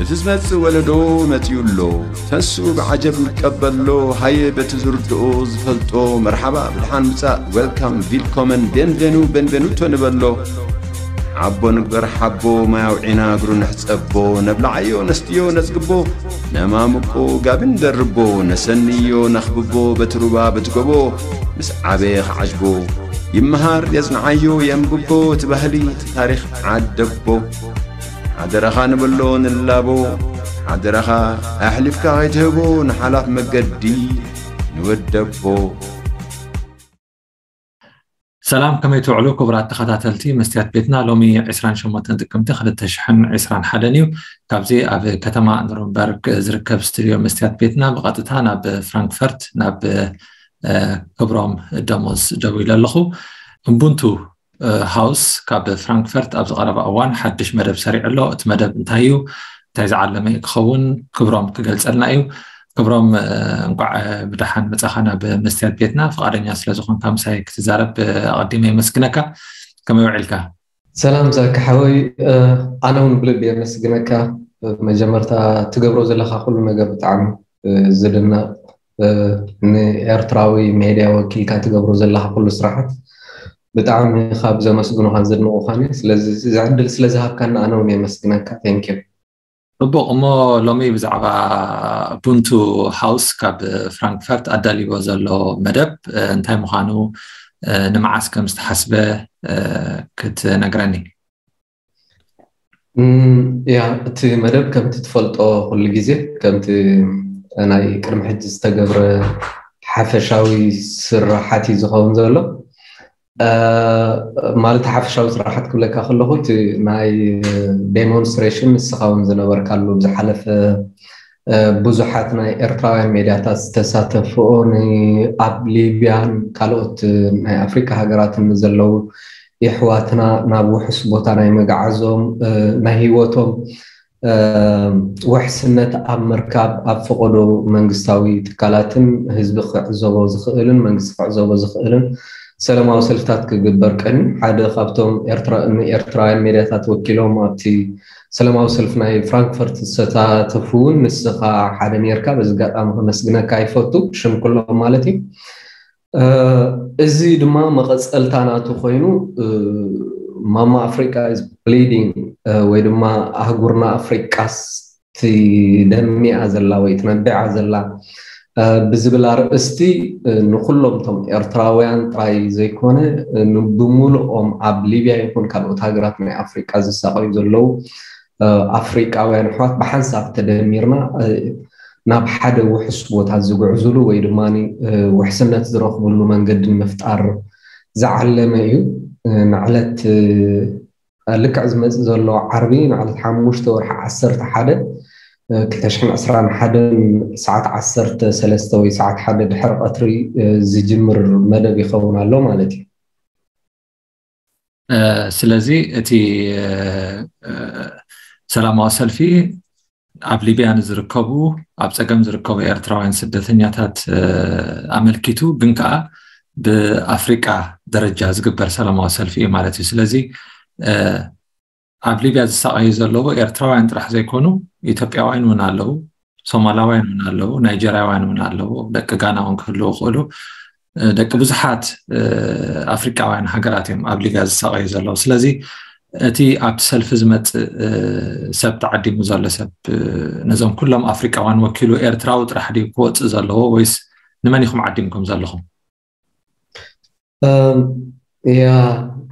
እቲ ዝመጽእ ወለዶ መጺኡ ኣሎ። ተስኡ ብዓጀብ ይቀበሎ። ሃየ በቲ ዝርድኦ ዝፈልጦ መርሓባ ብድሓን ምጻእ፣ ዌልካም፣ ቪልኮመን፣ ቤንቬኑ፣ ቤንቬኑቶ ንበሎ። ሓቦ ንግበር ሓቦ፣ ማይ ኣውዒና እግሩ ንሕጸቦ። ነብልዓዮ ነስትዮ ነጽግቦ፣ ነማምቆ ጋቢ ንደርቦ። ነሰንዮ ነኽብቦ በቲ ሩባ በቲ ጎቦ፣ ምስ ዓበየ ክዓጅቦ። ይመሃር የጽንዓዮ የንብቦ፣ እቲ ባህሊ እቲ ታሪኽ ዓደቦ። ሓደራኻ ንበሎ ንላቦ፣ ሓደራኻ ኣሕሊፍካ ከይትህቦ ንሓላፍ መገዲ ንወደቦ። ሰላም፣ ከመይ ትውዕሉ ክቡራት ተኸታተልቲ መስትያት ቤትና? ሎሚ ዕስራን ሸሞንተን ጥቅምቲ ክልተ ሽሕን ዕስራን ሓደን እዩ። ካብዚ ኣብ ከተማ ኑረምበርግ ዝርከብ ስቱድዮ መስትያት ቤትና ብቐጥታ ናብ ፍራንክፈርት ናብ እ፣ ክብሮም ደሞዝ ደዊለ ኣለኹ። እቡንቱ እ፣ ሃውስ ካብ ፍራንክፈርት ኣብ ዝቐረበ እዋን ሓድሽ መደብ ሰሪዑ ኣሎ። እቲ መደብ እንታይ እዩ? እንታይ ዝዓለመ እዩ ክኸውን? ክብሮም ክገልጸልና እዩ። ክብሮም፣ እ፣ እንቋዕ ብደሓን መጻኻ ናብ መስትያት ቤትና። ፍቓደኛ ስለ ዝኾንካ ምሳይ ክትዛረብ፣ እ፣ ኣቐዲመ የመስግነካ። ከመይ ውዒልካ? ሰላም ዛኪ ሓወይ፣ እ፣ ኣነ እውን ብልቢ የመስግነካ። መጀመርታ ትገብሮ ዘለኻ ኩሉ ነገር ብጣዕሚ፣ እ፣ ዝድነቕ፣ እ፣ ንኤርትራዊ ሜድያ ወኪልካ ትገብሮ ዘለኻ ኩሉ ስራሓት ብጣዕሚ ካብ ዘመስግኑኻን ዘድንቑኻን እየ። ስለዚ እዚ ዕድል ስለ ዝሃብካኒ ኣነ እውን የመስግነካ። Thank you። ጽቡቕ፣ እሞ ሎሚ ብዛዕባ ቡንቱ ሃውስ ካብ ፍራንክፈርት ኣዳልይዎ ዘሎ መደብ፣ እ፣ እንታይ ምዃኑ፣ እ፣ ንመዓስ ከም ዝተሓስበ፣ እ፣ ክትነግረኒ። እም፣ ያ፣ እቲ መደብ ከምቲ ትፈልጦ ኩሉ ግዜ ከምቲ ናይ ቅድሚ ሕጂ ዝተገብረ ሓፈሻዊ ስራሓት እዩ ዝኸውን ዘሎ። እ፣ ማለት ሓፈሻዊ ስራሓት ክብለካ ከለኹ እቲ ናይ ዴሞንስትሬሽን ንስኻ እውን ዝነበርካሉ ብዝሓለፈ፣ እ፣ ብዙሓት ናይ ኤርትራውያን ሜድያታት ዝተሳተፍኦ ን-፣ ኣብ ሊብያን ካልኦት ናይ ኣፍሪካ ሃገራትን ንዘለዉ የሕዋትና ናብ ውሑስ ቦታ ናይ መግዓዞም፣ እ፣ ናይ ህይወቶም፣ እ፣ ውሕስነት ኣብ ምርካብ ኣብ ፈቐዶ መንግስታዊ ትካላትን ህዝቢ ክዕዘቦ ዝኽእልን መንግስቲ ክዕዘቦ ዝኽእልን ሰላማዊ ሰልፍታት ክግበር ቀንዩ ሓደ ካብቶም ኤርትራ-፣ ንኤርትራውያን ሜድያታት ወኪሎም ኣብቲ ሰላማዊ ሰልፊ ናይ ፍራንክፈርት ዝተሳተፉ እውን ንስኻ ሓደ ኔርካ። በዚ ኣጋጣሚ ከመስግነካ ይፈቱ፣ ብሽም ኩሎም ማለት እዩ። እ፣ እዚ ድማ መቐጸልታ ናቱ ኮይኑ፣ እ፣ ማማ ኣፍሪቃ is bleeding፣ እ፣ ወይ ድማ ኣህጉርና ኣፍሪቃስ ትደሚኣ ዘላ ወይ ትነብዓ ዘላ፣ እ፣ ብዝብል ኣርእስቲ፣ እ፣ ንኩሎም እቶም ኤርትራውያን ጥራይ ዘይኮነ፣ እ፣ ን-፣ ብምሉኦም ኣብ ሊብያ ይኹን ካልኦት ሃገራት ናይ ኣፍሪቃ ዝሳቐዩ ዘለዉ፣ እ፣ ኣፍሪቃውያን ኣሕዋት ብሓንሳብ ተደሚርና፣ እ፣ ናብ ሓደ ውሑስ ቦታ ዝጉዕዙሉ ወይ ድማ፣ እ፣ ውሕስነት ዝረኽብሉ መንገዲ ንምፍጣር ዝዓለመ እዩ። እ፣ ንዕለት፣ እ፣ ልክዕ ዝመጽእ ዘሎ ዓርቢ ንዕለት ሓሙሽተ ወርሒ ዓሰርተ ሓደ፣ እ፣ ክልተ ሽሕን ዕስራን ሓደን ሰዓት ዓሰርተ ሰለስተ ወይ ሰዓት ሓደ ድሕሪ ቀትሪ፣ እ፣ ዝጅምር መደብ ይኸውን ኣሎ ማለት እዩ። እ፣ ስለዚ እቲ፣ እ፣ እ፣ ሰላማዊ ሰልፊ ኣብ ሊብያ ንዝርከቡ፣ ኣብ ጸገም ዝርከቡ ኤርትራውያን ስደተኛታት፣ እ፣ ኣመልኪቱ፣ ግን ከኣ ብኣፍሪቃ ደረጃ ዝግበር ሰላማዊ ሰልፊ እዩ ማለት እዩ። ስለዚ፣ እ፣ ኣብ ሊብያ ዝሳቐዩ ዘለዉ ኤርትራውያን ጥራሕ ዘይኮኑ፣ ኢትዮጵያውያን እውን ኣለዉ፣ ሶማላውያን እውን ኣለዉ፣ ናይጀርያውያን እውን ኣለዉ፣ ደቂ ጋና እውን ክህልዉ ይኽእሉ። እ፣ ደቂ ብዙሓት፣ እ፣ ኣፍሪቃውያን ሃገራት እዮም ኣብ ሊብያ ዝሳቐዩ ዘለዉ። ስለዚ እቲ ኣብቲ ሰልፊ ዝመጽእ፣ እ፣ ሰብ ተዓዲሙ ዘሎ ሰብ፣ እ፣ ነዞም ኩሎም ኣፍሪቃውያን ወኪሉ ኤርትራዊ ጥራሕ ድዩ ክወጽእ ዘለዎ ወይስ ንመን ኢኹም ዓዲምኩም ዘለኹም? እም፣ ያ፣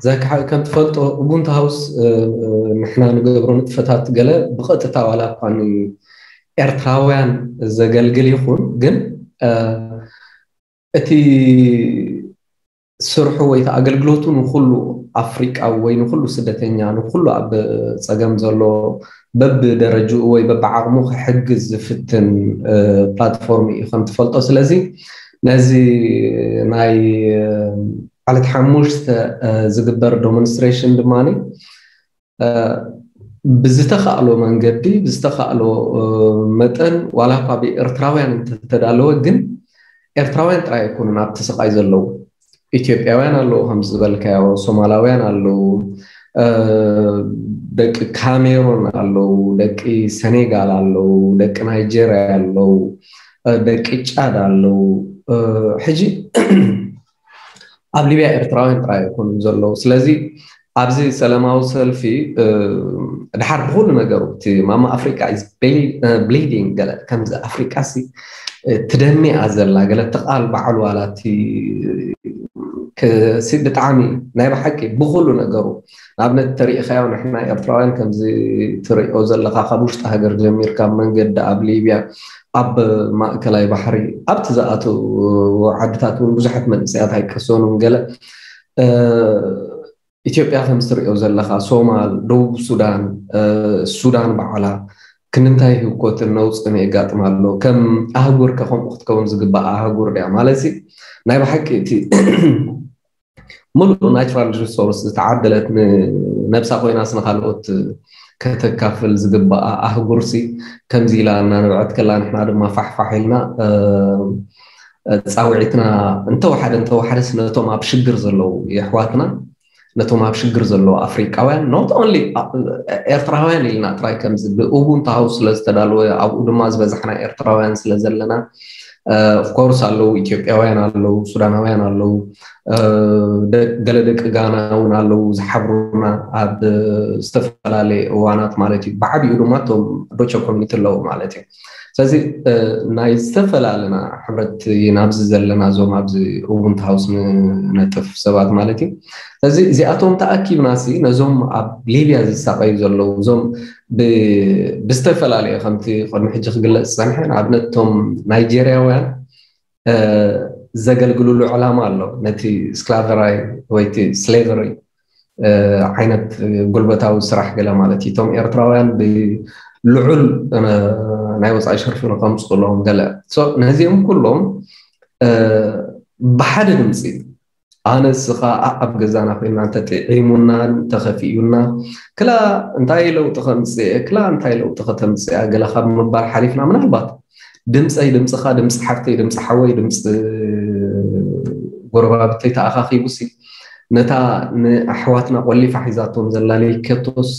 ዛኪ ሓወይ፣ ከም ትፈልጦ ኡቡንቱ ሃውስ፣ እ፣ እ፣ ንሕና ንገብሮ ንጥፈታት ገለ ብቐጥታ ዋላ እኳ ንኤርትራውያን ዘገልግል ይኹን፣ ግን፣ እ፣ እቲ ስርሑ ወይ እቲ ኣገልግሎቱ ንኹሉ ኣፍሪቃዊ ወይ ንኹሉ ስደተኛ፣ ንኹሉ ኣብ ጸገም ዘሎ በብደረጅኡ ወይ በብዓቕሙ ክሕግዝ ዝፍትን፣ እ፣ ፕላትፎርም እዩ ከም ትፈልጦ። ስለዚ ነዚ ናይ፣ እ፣ ዕለት ሓሙሽተ፣ እ፣ ዝግበር ዶሞንስትሬሽን ድማ፣ እ፣ ብዝተኻእሎ መንገዲ፣ ብዝተኻእሎ፣ እ፣ መጠን፣ ዋላ እኳ ብኤርትራውያን እንተተዳለወ፣ ግን ኤርትራውያን ጥራይ ኣይኮኑን ኣብቲ ስቓይ ዘለዉ። ኢትዮጵያውያን ኣለዉ፣ ከም ዝበልካዮ፣ ሶማላውያን ኣለዉ፣ ደቂ ካሜሮን ኣለዉ፣ ደቂ ሰኔጋል ኣለዉ፣ ደቂ ናይጄርያ ኣለዉ፣ ደቂ ጫድ ኣለዉ። ሕጂ ኣብ ሊብያ ኤርትራውያን ጥራይ ኣይኮኑን ዘለዉ። ስለዚ ኣብዚ ሰላማዊ ሰልፊ ድሓር ብኩሉ ነገሩ እቲ ማማ ኣፍሪቃ ብሊዲንግ ገለ ከምዚ ኣፍሪቃ ሲ ትደሚኣ ዘላ ገለ ተቃል በዓል ዋላ እቲ ብጣዕሚ ናይ ብሓቂ ብኩሉ ነገሩ ንኣብነት ተሪኢኻዮ ንሕና ኤርትራውያን ከምዚ ትሪኦ ዘለካ ካብ ውሽጢ ሃገር ጀሚርካ መንገዲ ኣብ ሊብያ ኣብ ማእከላይ ባሕሪ ኣብቲ ዝኣተው ዓድታት እውን ብዙሓት መንእሰያት ኣይቀሰኑን ገለ ኢትዮጵያ ከም ዝትሪኦ ዘለካ ሶማል ደቡብ ሱዳን ሱዳን በዓላ ክንንታይ ህውኮትን ነውፅን የጋጥማ ኣሎ ከም ኣህጉር ከ ከምኡ ክትከውን ዝግባእ ኣህጉር ድያ ማለት ናይ ብሓቂ እቲ ሙሉእ ናቹራል ሪሶርስ ዝተዓደለት ንነብሳ ኮይናስ ንካልኦት ከተካፍል ዝግባኣ ኣህጉርሲ ከምዚ ኢላ እናነብዐት ከላ ንሕና ድማ ፋሕፋሕ ኢልና ፃውዒትና እንተወሓደ እንተወሓደስ ነቶም ኣብ ሽግር ዘለዉ የሕዋትና ነቶም ኣብ ሽግር ዘለዉ ኣፍሪቃውያን not only ኤርትራውያን ኢልና ጥራይ ከምዚ ብኡቡንቱ ሃውስ ስለ ዝተዳለወ ኣብኡ ድማ ዝበዛሕና ኤርትራውያን ስለ ዘለና ኦፍኮርስ ኣለዉ ኢትዮጵያውያን ኣለዉ ሱዳናውያን ኣለዉ ገለ ደቂ ጋና እውን ኣለዉ ዝሓብሩና ኣብ ዝተፈላለየ እዋናት ማለት እዩ ብዓብኡ ድማ እቶም ዶቸ ኮሚኒቲ ኣለዉ ማለት እዩ ስለዚ ናይ ዝተፈላለና ሕብረት ናብዚ ዘለና እዞም ኣብዚ እውን ሃውስ ንነጥፍ ሰባት ማለት እዩ ስለዚ እዚኣቶም ተኣኪብና ሲ ነዞም ኣብ ሊብያ ዝሳቀዩ ዘለዉ እዞም ብዝተፈላለየ ከምቲ ቅድሚ ሕጂ ክግለፅ ዝፀንሐ ንኣብነት እቶም ናይጀርያውያን ዘገልግልሉ ዕላማ ኣሎ ነቲ ስክላቨራይ ወይ ቲ ስሌቨሪ ዓይነት ጉልበታዊ ስራሕ ገለ ማለት እዩ እቶም ኤርትራውያን ብልዑል ናይ ወፃኢ ሸርፊ ንከምፅእሎም ገለ ነዚኦም ኩሎም ብሓደ ድምፂ ኣነ እስኻ ኣብ ገዛና ኮይና እንተጥዒሙና እንተኸፊኡና ክላ እንታይ ለውጢ ከምፅእ ክላ እንታይ ለውጢ ከተምፅእ ገለ ካብ ምባል ሓሊፍና ምናልባት ድምፀይ ድምፅኻ ድምፂ ሓፍተይ ድምፂ ሓወይ ድምፂ ጎረባብተይ ተኣኻኺቡ ሲ ነታ ንኣሕዋትና ቆሊፋ ሒዛቶም ዘላ ለይከቶስ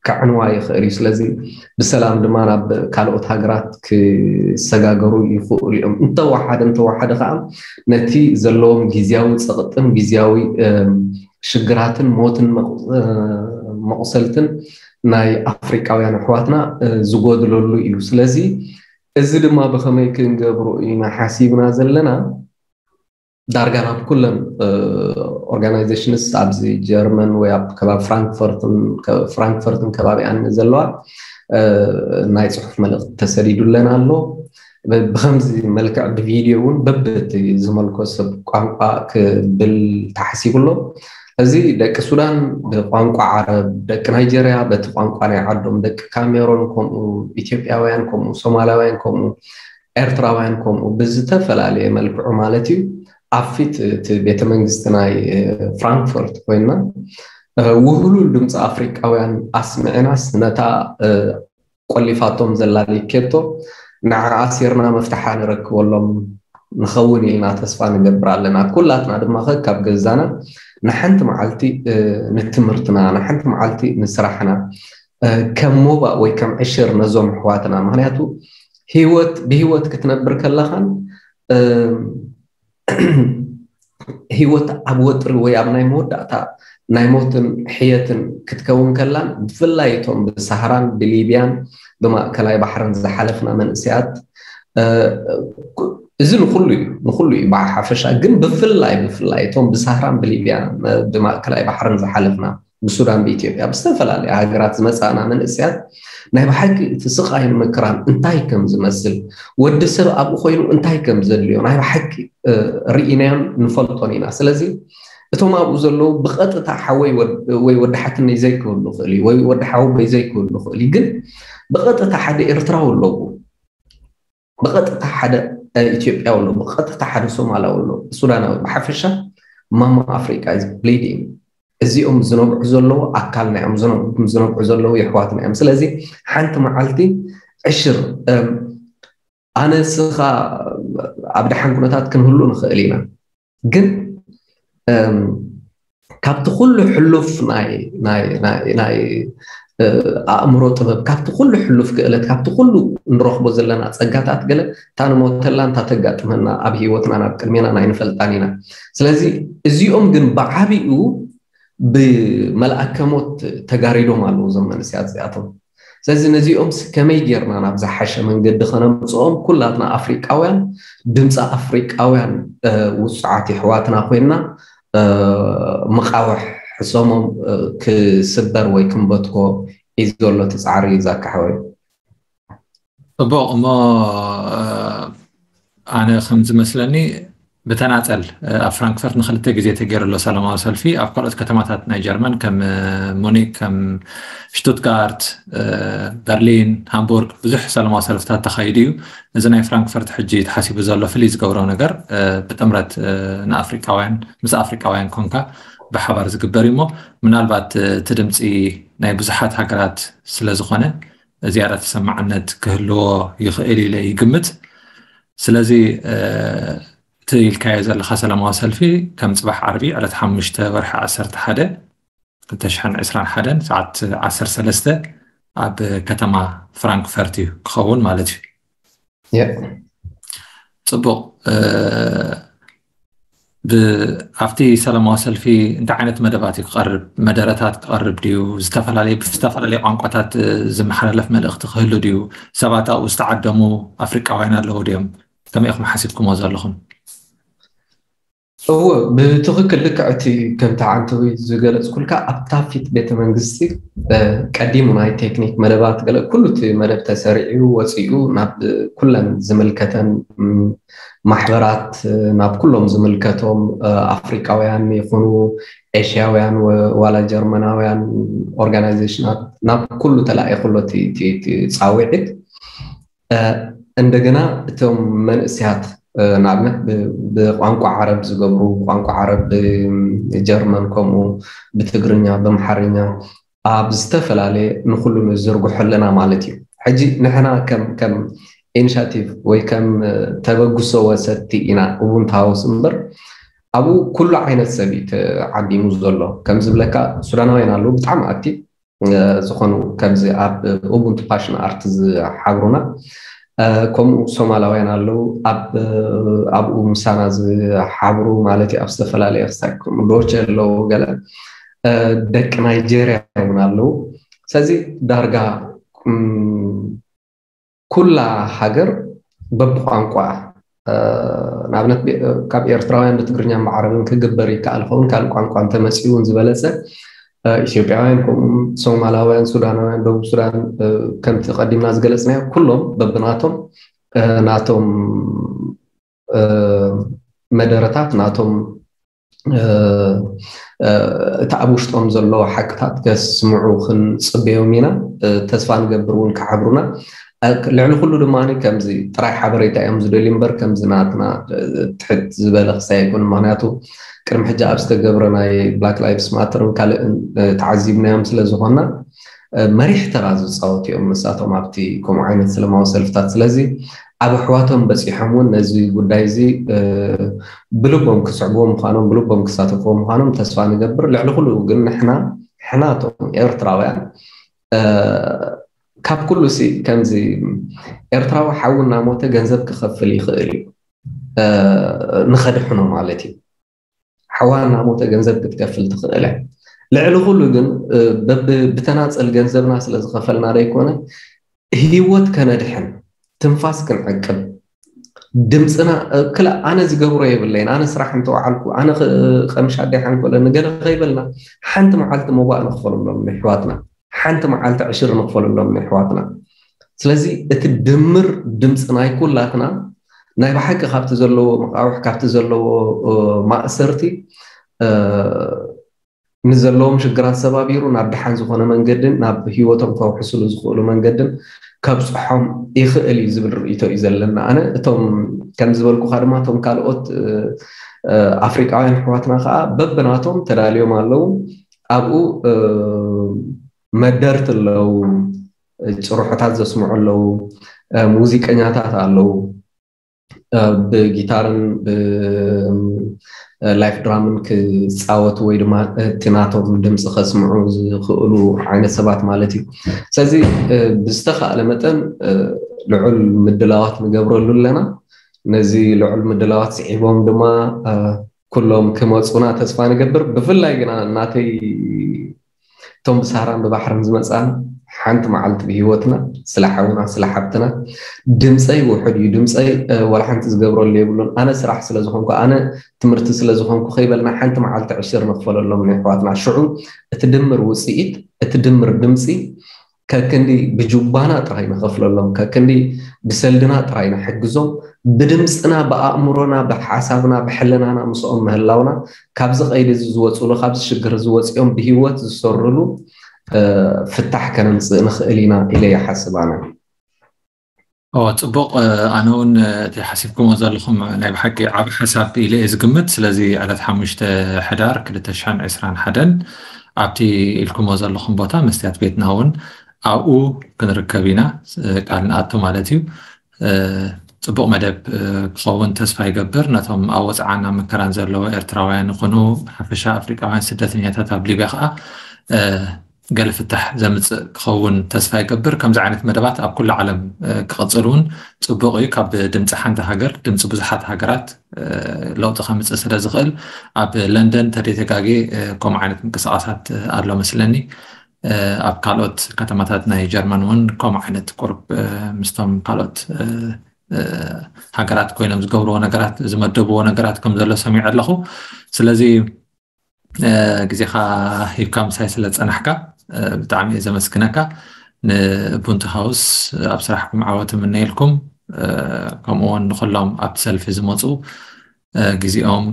ከዕንዋ ይኽእል እዩ ስለዚ ብሰላም ድማ ናብ ካልኦት ሃገራት ክሰጋገሩ ይኽእሉ እዮም እንተወሓደ እንተወሓደ ከዓ ነቲ ዘለዎም ግዝያዊ ፀቕጥን ግዝያዊ ሽግራትን ሞትን መቑሰልትን ናይ ኣፍሪቃውያን ኣሕዋትና ዝጎድለሉ እዩ ስለዚ እዚ ድማ ብኸመይ ክንገብሮ ኢና ሓሲብና ዘለና ዳርጋ ናብ ኩለን ኦርጋናይዜሽንስ ኣብዚ ጀርመን ወይ ኣብ ከባቢ ፍራንክፈርትን ከባቢኣን ዘለዋ ናይ ፅሑፍ መልእክቲ ተሰዲዱለን ኣሎ ብከምዚ መልክዕ ብቪድዮ እውን በብቲ ዝመልኮ ሰብ ቋንቋ ክብል ተሓሲቡ ኣሎ እዚ ደቂ ሱዳን ብቋንቋ ዓረብ ደቂ ናይጀርያ በቲ ቋንቋ ናይ ዓዶም ደቂ ካሜሮን ከምኡ ኢትዮጵያውያን ከምኡ ሶማላውያን ከምኡ ኤርትራውያን ከምኡ ብዝተፈላለየ መልክዑ ማለት እዩ ኣብ ፊት እቲ ቤተ መንግስቲ ናይ ፍራንክፈርት ኮይና ውህሉል ድምፂ ኣፍሪቃውያን ኣስምዕናስ ነታ ቆሊፋቶም ዘላ ሊኬቶ ንዓ ኣሲርና መፍትሓ ንረክበሎም ንኸውን ኢልና ተስፋ ንገብር ኣለና ኩላትና ድማ ከ ካብ ገዛና ንሓንቲ መዓልቲ ንትምህርትና ንሓንቲ መዓልቲ ንስራሕና ከም ሞባእ ወይ ከም ዕሽር ነዞም ኣሕዋትና ምክንያቱ ህይወት ብህይወት ክትነብር ከለኻን ህይወት ኣብ ወጥሪ ወይ ኣብ ናይ መወዳእታ ናይ ሞትን ሕየትን ክትከውን ከላን ብፍላይ እቶም ብሳህራን ብሊብያን ብማእከላይ ባሕርን ዝሓለፍና መንእሰያት እዚ ንኩሉ እዩ ንኩሉ እዩ ብሓፈሻ ግን ብፍላይ ብፍላይ እቶም ብሳህራን ብሊብያን ብማእከላይ ባሕርን ዝሓለፍና ብሱዳን ብኢትዮጵያ ብዝተፈላለየ ሃገራት ዝመፃእና መንእሰያት ናይ ብሓቂ እቲ ስቃይን መከራን እንታይ ከም ዝመስል ወዲ ሰብ ኣብኡ ኮይኑ እንታይ ከም ዘድልዮ ናይ ብሓቂ ርኢናዮን ንፈልጦን ኢና ስለዚ እቶም ኣብኡ ዘለዉ ብቐጥታ ሓወይ ወይ ወዲ ሓትነይ ዘይክህሉ ይኽእል እዩ ወይ ወዲ ሓወቦይ ዘይክህሉ ይኽእል እዩ ግን ብቐጥታ ሓደ ኤርትራዊ ኣለዉ ብቐጥታ ሓደ ኢትዮጵያዊ ኣሎ ብቐጥታ ሓደ ሶማላዊ ኣሎ ሱዳናዊ ብሓፈሻ ማማ ኣፍሪቃ is bleeding እዚኦም ዝነብዑ ዘለዉ ኣካልና እዮም ዝነብዑ ዘለዉ የሕዋትና እዮም ስለዚ ሓንቲ መዓልቲ ዕሽር ኣነ እስኻ ኣብ ደሓን ኩነታት ክንህሉ ንኽእል ኢና ግን ካብቲ ኩሉ ሕሉፍ ናይ ናይ ናይ ናይ ኣእምሮ ጥበብ፣ ካብቲ ኩሉ ሕሉፍ ክእለት፣ ካብቲ ኩሉ ንረኽቦ ዘለና ጸጋታት፣ ገለ እታ ንሞተላ እንታ ተጋጥመና ኣብ ህይወትና ናብ ቅድሜና ናይ ንፈልጣን ኢና። ስለዚ እዚኦም ግን ብዓቢኡ ብመልኣከ ሞት ተጋሪዶም ኣለዉ እዞም መንእሰያት እዚኣቶም። ስለዚ ነዚኦም ከመይ ጌርና ናብ ዝሓሸ መንገዲ ከነምፅኦም፣ ኩላትና ኣፍሪቃውያን ድምፂ ኣፍሪቃውያን ውፁዓት የሕዋትና ኮይና መቃውሕ ሕሰሞም ክስበር ወይ ክንበትኮ እዩ ዘሎ እቲ ፃዕሪ ዛካ ሓወይ። ፅቡቕ እሞ ኣነ ከም ዝመስለኒ ብተናፀል ኣብ ፍራንክፈርት ንክልተ ግዜ ተገይሩ ኣሎ ሰላማዊ ሰልፊ። ኣብ ካልኦት ከተማታት ናይ ጀርመን ከም ሙኒክ፣ ከም ሽቱትጋርት፣ በርሊን፣ ሃምቡርግ ብዙሕ ሰላማዊ ሰልፍታት ተኻይዱ እዩ። እዚ ናይ ፍራንክፈርት ሕጂ ተሓሲቡ ዘሎ ፍልይ ዝገብሮ ነገር ብጥምረት ንኣፍሪቃውያን ምስ ኣፍሪቃውያን ኮንካ ብሓባር ዝግበር እዩ እሞ ምናልባት እቲ ድምፂ ናይ ብዙሓት ሃገራት ስለዝኾነ ዝያዳ ተሰማዕነት ክህልዎ ይኽእል ኢለ ይግምት። ስለዚ እቲ ኢልካዮ ዘለካ ሰላማዊ ሰልፊ ከም ፅባሕ ዓርቢ ዕለት ሓሙሽተ ወርሒ ዓሰርተ ሓደ ክልተ ሽሕን ዕስራን ሓደን ሰዓት ዓሰርተ ሰለስተ ኣብ ከተማ ፍራንክፈርት እዩ ክኸውን ማለት እዩ። ያ ፅቡቕ። ኣብቲ ሰላማዊ ሰልፊ እንታይ ዓይነት መደባት እዩ ክቐርብ? መደረታት ክቐርብ ድዩ? ዝተፈላለዩ ብዝተፈላለዩ ቋንቋታት ዝመሓላለፍ መልእኽቲ ክህሉ ድዩ? ሰባት ኣብኡ ዝተዓደሙ ኣፍሪቃውያን ኣለዉ ድዮም? ከመይ ኢኹም ሓሲብኩሞ ዘለኹም? እወ፣ ብትኽክል ልክዕ እቲ ከምቲ ዓንተዊ ዝገለፅኩልካ ኣብታ ፊት ቤተ መንግስቲ ቀዲሙ ናይ ቴክኒክ መደባት ገለ ኩሉ እቲ መደብ ተሰሪዑ ወፂኡ ናብ ኩለን ዝምልከተን ማሕበራት፣ ናብ ኩሎም ዝምልከቶም ኣፍሪቃውያን ይኹኑ ኤሽያውያን ዋላ ጀርመናውያን ኦርጋናይዜሽናት ናብ ኩሉ ተላኢኹ ኣሎ እቲ ፃውዒት። እንደገና እቶም መንእስያት ንኣብነት ብቋንቋ ዓረብ ዝገብሩ፣ ብቋንቋ ዓረብ፣ ብጀርመን፣ ከምኡ ብትግርኛ፣ ብኣምሓርኛ ኣብ ዝተፈላለየ ንኩሉ ንዝርግሖ ኣለና ማለት እዩ። ሕጂ ንሕና ከም ከም ኢኒሻቲቭ ወይ ከም ተበግሶ ወሰድቲ ኢና ኡቡንቱ ሃውስ እምበር ኣብኡ ኩሉ ዓይነት ሰብ እዩ ተዓዲሙ ዘሎ። ከም ዝብለካ ሱዳናውያን ኣለዉ ብጣዕሚ ኣክቲቭ ዝኾኑ ከምዚ ኣብ ኡቡንቱ ፓሽን ኣርት ዝሓብሩና፣ ከምኡ ሶማላውያን ኣለዉ ኣብኡ ምሳና ዝሓብሩ ማለት እዩ። ኣብ ዝተፈላለየ ክሳይ ዶቼ ኣለዉ፣ ገለ ደቂ ናይጄርያ እውን ኣለዉ። ስለዚ ዳርጋ ኩላ ሃገር በብቋንቋ፣ ንኣብነት ካብ ኤርትራውያን ብትግርኛን ብዓረብን ክግበር ይከኣል ኸውን፣ ካልእ ቋንቋ እንተመፅኡ እውን ዝበለፀ። ኢትዮጵያውያን ከምኡ፣ ሶማላውያን፣ ሱዳናውያን፣ ደቡብ ሱዳን፣ ከምቲ ቀዲምና ዝገለፅናዮ ኩሎም በብናቶም ናቶም መደረታት ናቶም እቲ ኣብ ውሽጦም ዘሎ ሓቅታት ከስምዑ ክንፅበዮም ኢና። ተስፋ ንገብር እውን ክሓብሩና። ልዕሊ ኩሉ ድማ ከምዚ ጥራይ ሓበሬታ እዮም ዝደልዩ እምበር ከምዚ ናትና ትሕት ዝበለ ክሳይ ኣይኮኑን። ምክንያቱ ቅድሚ ሕጂ ኣብ ዝተገብረ ናይ ብላክ ላይቭስ ማተርን ካልእን ተዓዚብናዮም ስለዝኾንና መሪሕ ተራ ዝፃወቱ እዮም ንሳቶም ኣብቲ ከምኡ ዓይነት ሰላማዊ ሰልፍታት። ስለዚ ኣብ ኣሕዋቶም በፂሖም እውን ነዚ ጉዳይ እዚ ብልቦም ክስዕብዎ ምዃኖም፣ ብልቦም ክሳተፍዎ ምዃኖም ተስፋ ንገብር። ልዕሊ ኩሉ ግን ንሕና ሕናቶም ኤርትራውያን ካብ ኩሉ ሲ ከምዚ ኤርትራዊ ሓዊ እናሞተ ገንዘብ ክኸፍል ይኽእል እዩ ንኸድሕኖ ማለት እዩ። ሓዋ እናሞተ ገንዘብ ክትከፍል ትኽእል እያ። ልዕሊ ኩሉ ግን ብተናፀል ገንዘብና ስለ ዝኸፈልና ዘይኮነ ህይወት ከነድሕን ትንፋስ ክንዕቅብ ድምፅና ክላ ኣነ ዝገብሮ የብለይን፣ ኣነ ስራሕ እንተወዓልኩ፣ ኣነ ቀምሻ ኣደይ ሓንኮለ ንገለ ከይበልና ሓንቲ መዓልቲ መዋእ ንኽፈሉሎም ንሕዋትና፣ ሓንቲ መዓልቲ ዕሽር ንኽፈሉሎም ንሕዋትና። ስለዚ እቲ ድምር ድምፂ ናይ ኩላትና ናይ ብሓቂ ካብቲ ዘለዎ መቃውሕ ካብቲ ዘለዎ ማእሰርቲ ንዘለዎም ሽግራት ሰባቢሩ ናብ ደሓን ዝኾነ መንገድን ናብ ህይወቶም ከውሕስሉ ዝኽእሉ መንገድን ከብፅሖም ይኽእል እዩ ዝብል ርእይቶ እዩ ዘለና። ኣነ እቶም ከም ዝበልኩኻ ድማ እቶም ካልኦት ኣፍሪቃውያን ኣሕዋትና ከዓ በብናቶም ተዳልዮም ኣለዉ። ኣብኡ መደርት ኣለዉ፣ ጭርሖታት ዘስምዑ ኣለዉ፣ ሙዚቀኛታት ኣለዉ፣ ብጊታርን ላይፍ ድራምን ክፃወቱ ወይ ድማ እቲ ናቶም ድምፂ ከስምዑ ዝኽእሉ ዓይነት ሰባት ማለት እዩ። ስለዚ ብዝተኻእለ መጠን ልዑል ምድላዋት ንገብረሉ ኣለና። ነዚ ልዑል ምድላዋት ስዒቦም ድማ ኩሎም ክመፁና ተስፋ ንገብር። ብፍላይ ግና እናተይ እቶም ብሳህራን ብባሕርን ዝመፃና ሓንቲ መዓልቲ ብሂወትና ስለ ሓውና ስለ ሓብትና ድምፀይ ውሑድ እዩ። ድምፀይ ዋላ ሓንቲ ዝገብረሉ የብሉን። ኣነ ስራሕ ስለ ዝኾንኩ፣ ኣነ ትምህርቲ ስለ ዝኾንኩ ከይበልና ሓንቲ መዓልቲ ዕሽር ንኽፈለሎም ንኣሕዋትና። ሽዑ እቲ ድምር ውፅኢት፣ እቲ ድምር ድምፂ ከክንዲ ብጁባና ጥራይ ንኸፍለሎም፣ ከክንዲ ብሰልድና ጥራይ ንሕግዞም፣ ብድምፅና ብኣእምሮና ብሓሳብና ብሕልናና ምስኦም ምህላውና ካብዚ ቀይዲ እዚ ዝወፅሉ ካብዚ ሽግር ዝወፅኦም ብሂወት ዝሰርሉ ፍታሕ ከነምፅእ ንኽእል ኢና ኢለ ይሓስብ ኣነ። ኦ ጽቡቕ። ኣነ እውን እቲ ሓሲብኩሞ ዘለኹም ናይ ብሓቂ ዓብ ሓሳብ ኢለ እየ ዝግምት። ስለዚ ዕለት ሓሙሽተ ሕዳር ክልተ ሽሕን ዕስራን ሓደን ኣብቲ ኢልኩሞ ዘለኹም ቦታ መስትያት ቤትና እውን ኣብኡ ክንርከብ ኢና። ቃል ንኣቱ ማለት እዩ። ጽቡቕ መደብ ክኸውን ተስፋ ይገብር። ነቶም ኣብ ወፅዓን ኣብ መከራን ዘለዉ ኤርትራውያን ይኹኑ ብሓፈሻ ኣፍሪቃውያን ስደተኛታት ኣብ ሊብያ ከዓ ገለ ፍታሕ ዘምፅእ ክኸውን ተስፋ ይገብር። ከምዚ ዓይነት መደባት ኣብ ኩሉ ዓለም ክቕፅል እውን ፅቡቕ እዩ። ካብ ድምፂ ሓንቲ ሃገር ድምፂ ብዙሓት ሃገራት ለውጢ ከምፅእ ስለ ዝኽእል ኣብ ለንደን ተደይተጋጌ ከምኡ ዓይነት ምንቅስቃሳት ኣሎ መስለኒ። ኣብ ካልኦት ከተማታት ናይ ጀርመን እውን ከምኡ ዓይነት ቁርብ ምስቶም ካልኦት ሃገራት ኮይኖም ዝገብርዎ ነገራት ዝመደብዎ ነገራት ከም ዘሎ ሰሚዐ ኣለኹ። ስለዚ ግዜኻ ሂብካ ምሳይ ስለ ዝፀናሕካ ብጣዕሚ እየ ዘመስግነካ። ንቡንቲ ሃውስ ኣብ ስራሕኩም ዓወት እምነየልኩም። ከምኡ እውን ንኩሎም ኣብቲ ሰልፊ ዝመፁ ግዜኦም፣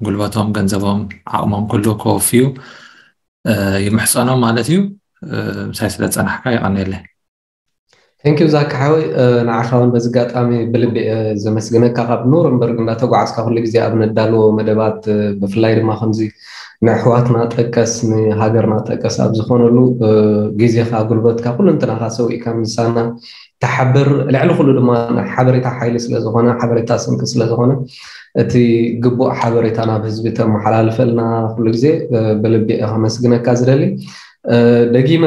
ጉልበቶም፣ ገንዘቦም፣ ዓቕሞም ኩሉ ከወፍዩ ይምሕፀኖም ማለት እዩ። ምሳይ ስለ ዝፀናሕካ የቐንየለይ። ቴንኪዩ ዛኪ ሓወይ፣ ንዓኻ እውን በዚ ኣጋጣሚ ብልቢ እየ ዘመስግነካ። ካብ ኑረንበርግ እንዳተጓዓዝካ ኩሉ ግዜ ኣብ ነዳልዎ መደባት፣ ብፍላይ ድማ ከምዚ ንኣሕዋትና ጠቀስ ንሃገርና ጠቀስ ኣብ ዝኾነሉ ግዜኻ፣ ጉልበትካ፣ ኩሉ እንትናኻ ሰዊእካ ምሳና ተሓብር። ልዕሊ ኩሉ ድማ ሓበሬታ ሓይሊ ስለዝኾነ፣ ሓበሬታ ስንቂ ስለዝኾነ፣ እቲ ግቡእ ሓበሬታ ናብ ህዝቢ ተመሓላልፈልና ኩሉ ግዜ ብልቢ እየ ከመስግነካ ዝደሊ። ደጊመ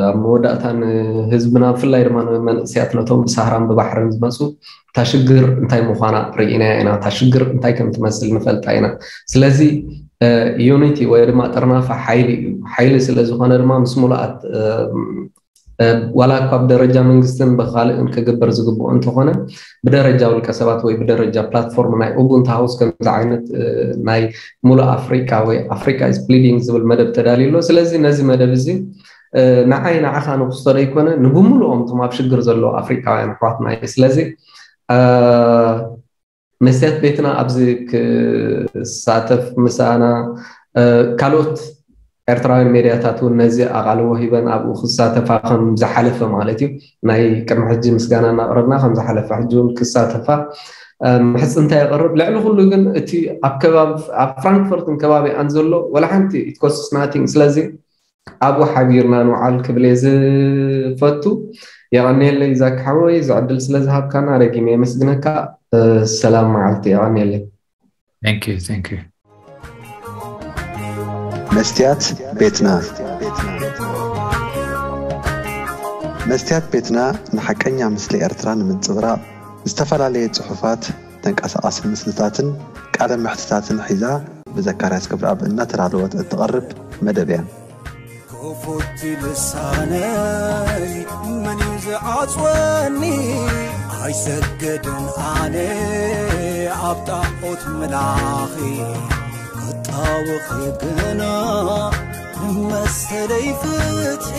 ኣብ መወዳእታ ንህዝብና ብፍላይ ድማ ንመንእሰያት ነቶም ብሳህራን ብባሕርን ዝመፁ እታ ሽግር እንታይ ምዃና ርኢናያ ኢና። እታ ሽግር እንታይ ከም ትመስል ንፈልጣ ኢና። ስለዚ ዩኒቲ ወይ ድማ ጥርናፈ ሓይሊ እዩ። ሓይሊ ስለ ዝኾነ ድማ ምስ ሙሉኣት ዋላ እኳ ብደረጃ መንግስትን ብካልእን ክግበር ዝግብኦ እንተኾነ ብደረጃ ውልቀ ሰባት ወይ ብደረጃ ፕላትፎርም ናይ ኡቡንቱ ሃውስ ከምዚ ዓይነት ናይ ሙሉእ ኣፍሪቃ ወይ ኣፍሪቃ is bleeding ዝብል መደብ ተዳልዩ ኣሎ። ስለዚ ነዚ መደብ እዚ ንዓይ ንዓኻ ንክስቶ ዘይኮነ ንብሙሉኦም እቶም ኣብ ሽግር ዘለዉ ኣፍሪቃውያን ኣሕዋትና እዩ። ስለዚ መስትያት ቤትና ኣብዚ ክሳተፍ ምሳና ካልኦት ኤርትራውያን ሜድያታት እውን ነዚ ኣቓልቦ ሂበን ኣብኡ ክሳተፋ ከም ዝሓለፈ ማለት እዩ ናይ ቅድሚ ሕጂ ምስጋና እናቕረብና ከም ዝሓለፈ ሕጂ እውን ክሳተፋ ምሕፅንታ የቕርብ። ልዕሊ ኩሉ ግን እቲ ኣብ ከባቢ ኣብ ፍራንክፈርትን ከባቢኣን ዘሎ ወላ ሓንቲ it costs nothing። ስለዚ ኣብኡ ሓቢርና ንውዓል ክብል እየ ዝፈቱ። የቐንየለይ ዛኪ ሓወይ፣ እዚ ዕድል ስለ ዝሃብካና ደጊመ የመስግነካ። ሰላም መዓልቲ። የቐንየለይ። Thank you, thank you። መስትያት ቤትና መስትያት ቤትና ንሓቀኛ ምስሊ ኤርትራ ንምንጽብራቕ ዝተፈላለየ ጽሑፋት፣ ተንቀሳቓሲ ምስልታትን ቃለ መሕትታትን ሒዛ ብዘካርያስ ገብረኣብ እናተዳለወት እትቐርብ መደብ እያ። ክፉት ልሳነይ መን እዩ ዝዓጽወኒ? ኣይሰግድን ኣነ ኣብ ጣዖት ምላኺ ክጣወኺ ግና መሰለይ ፍትሒ